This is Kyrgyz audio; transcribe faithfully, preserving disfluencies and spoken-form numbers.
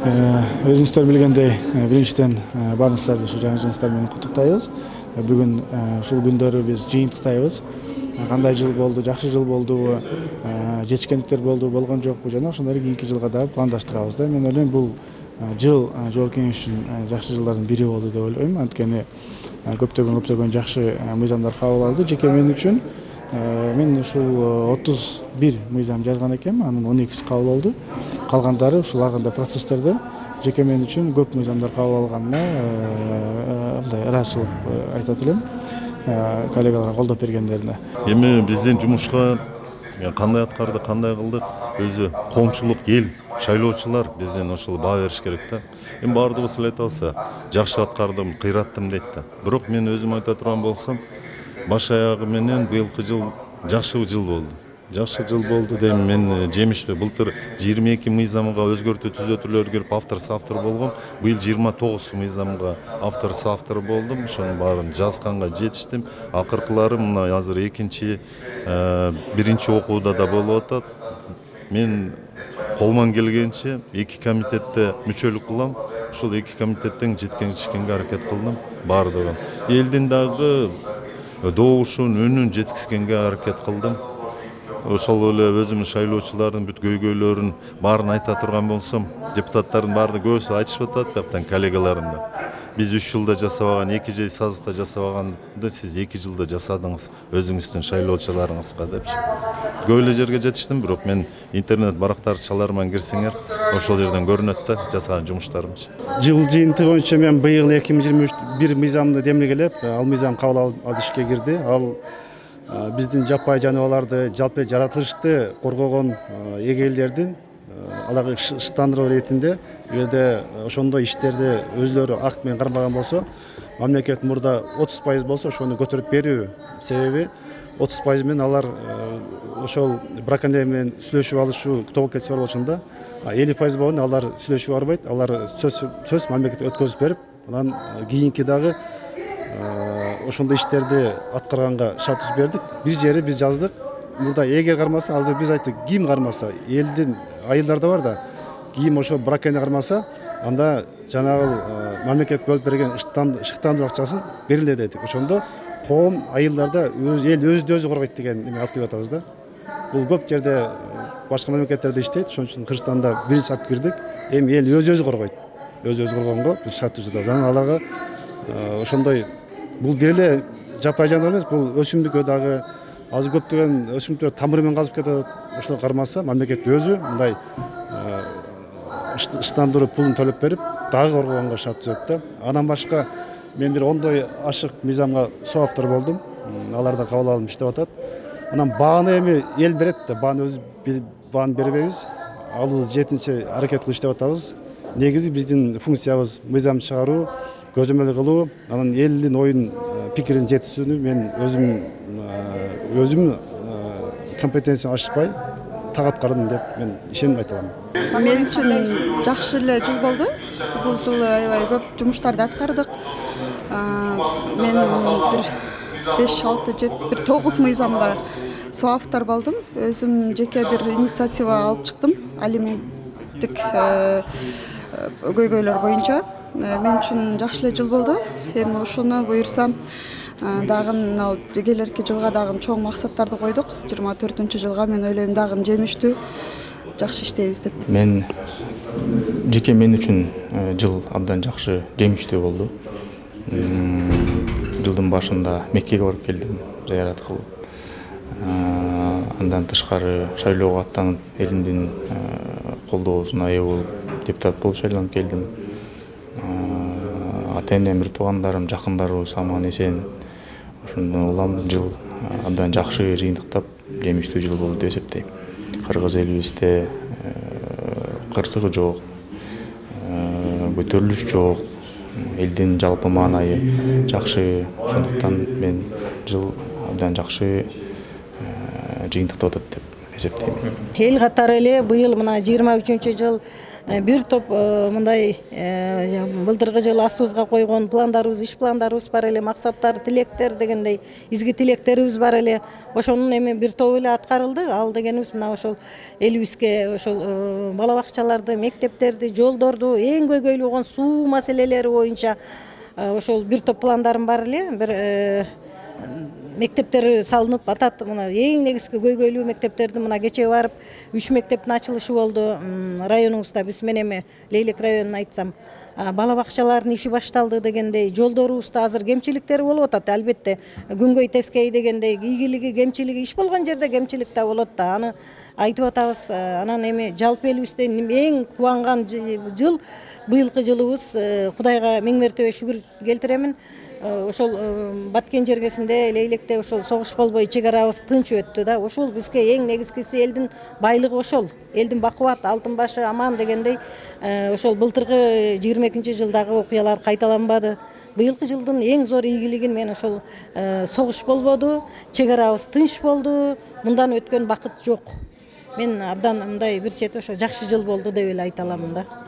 Өзүңүздөр билгендей, биринчиден баарыңыздарды ушу жаңы жылыңыздар менен куттуктайбыз. Бүгүн ушул күндөрү биз жыйынтыктайбыз. Кандай жыл болду, жакшы жыл болдубу, жетишкендиктер болду, болгон жокпу жана ошондой кийинки жылга дагы пландаштырабыз да. Мен ойлойм, бул жыл Жогорку Кеңеш үчүн жакшы жылдардын бири болду деп ойлойм. Анткени көптөгөн көптөгөн жакшы мыйзамдар кабыл алды. Жеке мен үчүн мен ушул отуз бир мыйзам жазган экенмин, анын он экиси кабыл болду. Калгандары ушул арканда процесстерде жеке мен үчүн көп мыйзамдар кабыл алганына мындай ыраазычылык айтат элем коллегаларга колдоп бергендерине. Эми биздин жумушка кандай аткарды, кандай кылдык, өзү коомчулук, эл, шайлоочулар бизден ошол баа бериш керек да. Эми баардыгыбыз эле айтабыз, жакшы аткардым, кыйраттым дейт да. Бирок мен өзүм айта турган болсом, баш аягы менен быйылкы жыл жакшы жыл болду. Жакшы жыл болду дейм, мен жемиштүү. Былтыр жыйырма эки мыйзамга өзгөртүү түзөтүүлөр келип автор соавтор болгом. Быйыл жыйырма тогуз мыйзамга автор соавтор болдум. Ошонун баарын жазганга жетиштим. Акыркылары мына азыр экинчи, биринчи окууда да болуп атат. Мен колуман келгенче эки комитетте мүчөлүк кылам. Ушул эки комитеттен жеткенчикенге аракет кылдым баардыгын. Элдин дагы добушун, үнүн жеткизгенге аракет кылдым. Ошол эле өзүмдүн шайлоочулардын бүт көйгөйлөрүн баарын айта турган болсом, депутаттардын баары көбүсү айтышып атат, бияктан коллегаларым да. Биз үч жылда жасабаган, эки жыл сазыкта жасабаганды сиз эки жылда жасадыңыз өзүңүздүн шайлоочуларыңызга депчи. Көп эле жерге жетиштим, бирок мен интернет барактарчаларыма кирсеңер, ошол жерден көрүнөт да жасаган жумуштарымчы. Жыл жыйынтыгы боюнча мен быйыл эки миң жыйырма бир мыйзамды демилгелеп, ал мыйзам кабыл алып ишке кирди. Ал биздин жаппай жаныбарларды, жалпы жаратылышты коргогон эгейлердин аларга ыштандыруу иретинде, эгерде ошондой иштерди өзлөрү акт менен кармаган болсо, мамлекет мурда отуз пайыз болсо, ошону көтөрүп берүү себеби отуз пайыз менен алар ошол браконьерлер менен сүйлөшүп алышуу тобокелчи бар болчунда, элүү пайыз болгондо алар сүйлөшүп барбайт, алар сөз сөз мамлекетке өткөзүп берип, анан кийинки дагы ошондой иштерди аткарганга шарт түзүп бердик. Бир жери биз жаздык. Мурда эгер кармаса, азыр биз айттык, ким кармаса, элдин айылдар да бар да, ким ошо браконьер кармаса, анда жанагы мамлекет бөлүп берген ышыктандыруу акчасын берилет дедик. Ошондо коом айылдарда өз эл өзү өзү коргойт деген эме алып келип атабыз да. Бул көп жерде башка мамлекеттерде иштейт, ошон үчүн Кыргызстанда биринчи алып кирдик. Эми эл өзү өзү коргойт. Өзү өзү коргонго биз шарт түзүп атабыз. Анан аларга ошондой бул бир эле жаппай жаныбар эмес, бул өсүмдүккө дагы азыр көптөгөн өсүмдүктөр тамыры менен казып кетип атат. Ошол кармаса, мамлекет өзү мындай ыштандыруу пулун төлөп берип, дагы коргогонго шарт түзөт да. Андан башка мен бир ондой ашык мыйзамга соавтор болдум. Алар да кабыл алынып иштеп атат. Анан бааны эми эл берет да, бааны өзү бааны бербейбиз. Алуу жетинчи аракет кылып иштеп атабыз. Негизи биздин функциябыз мыйзам чыгаруу, көзөмөл кылуу, анан элдин оюн, пикирин жеткизүүнү мен өзүм өзүм компетенциям ашпай так аткардым деп мен ишенип айта алам. Мен үчүн жакшы эле жыл болду. Бул жылы аябай көп жумуштарды аткардык. Мен бир беш алты жети бир тогуз мыйзамга соавтор болдум. Өзүм жеке бир инициатива алып чыктым. Алименттик көйгөйлөр боюнча. Мен үчүн жакшы эле жыл болду. Эми ошону буюрсам дагы ал келерки жылга дагы чоң максаттарды койдук. жыйырма төртүнчү жылга мен ойлойм дагы жемиштүү жакшы иштейбиз деп. Мен жеке мен үчүн жыл абдан жакшы, жемиштүү болду. Жылдын башында Меккеге барып келдим, зыярат кылып. Андан тышкары шайлоого аттанып, элимдин колдоосуна ээ болуп, депутат болуп шайланып келдим. Ата-энем, бир туугандарым, жакындарыбыз аман эсен. Ошондон улам жыл абдан жакшы жыйынтыктап, жемиштүү жыл болду деп эсептейм. Кыргыз элибизде кырсыгы жок, көтөрүлүш жок, элдин жалпы маанайы жакшы. Ошондуктан мен жыл абдан жакшы жыйынтыктап атат деп эсептейм. Эл катары эле быйыл мына жыйырма үчүнчү жыл бир топ мындай былтыркы жылы астыбызга койгон пландарыбыз, иш пландарыбыз бар эле, максаттар, тилектер дегендей изги тилектерибиз бар эле. Ошонун эми бир тобу эле аткарылды. Ал дегенибиз мына ошол элибизге ошол бала бакчаларды, мектептерди, жолдорду, эң көйгөйлүү болгон суу маселелери боюнча ошол бир топ пландарым бар эле. Бир мектептер салынып атат. Мына эң негизги көйгөйлүү мектептерди мына кечээ барып үч мектептин ачылышы болду районубузда. Биз мен эми Лейлек районун айтсам, бала бакчалардын иши башталды дегендей, жолдорубузда азыр кемчиликтер болуп атат. Албетте күнгөй тескей дегендей ийгилиги, кемчилиги, иш болгон жерде кемчилик да болот да. Аны айтып атабыз. Анан эми жалпы элибизде эң кубанган жыл быйылкы жылыбыз. Кудайга миң мертебе шүгүр келтиремин. Ошол Баткен жергесинде, Лейлекте ошол согуш болбой чек арабыз тынч өттү да. Ошол бизге эң негизгиси элдин байлыгы ошол. Элдин бакубат, алтын башы аман дегендей ошол былтыркы жыйырма экинчи жылдагы окуялар кайталанбады. Быйылкы жылдын эң зор ийгилигин мен ошол согуш болбоду, чек арабыз тынч болду. Мындан өткөн бакыт жок. Мен абдан мындай бир чети ошо жакшы жыл болду деп эле айта аламын да.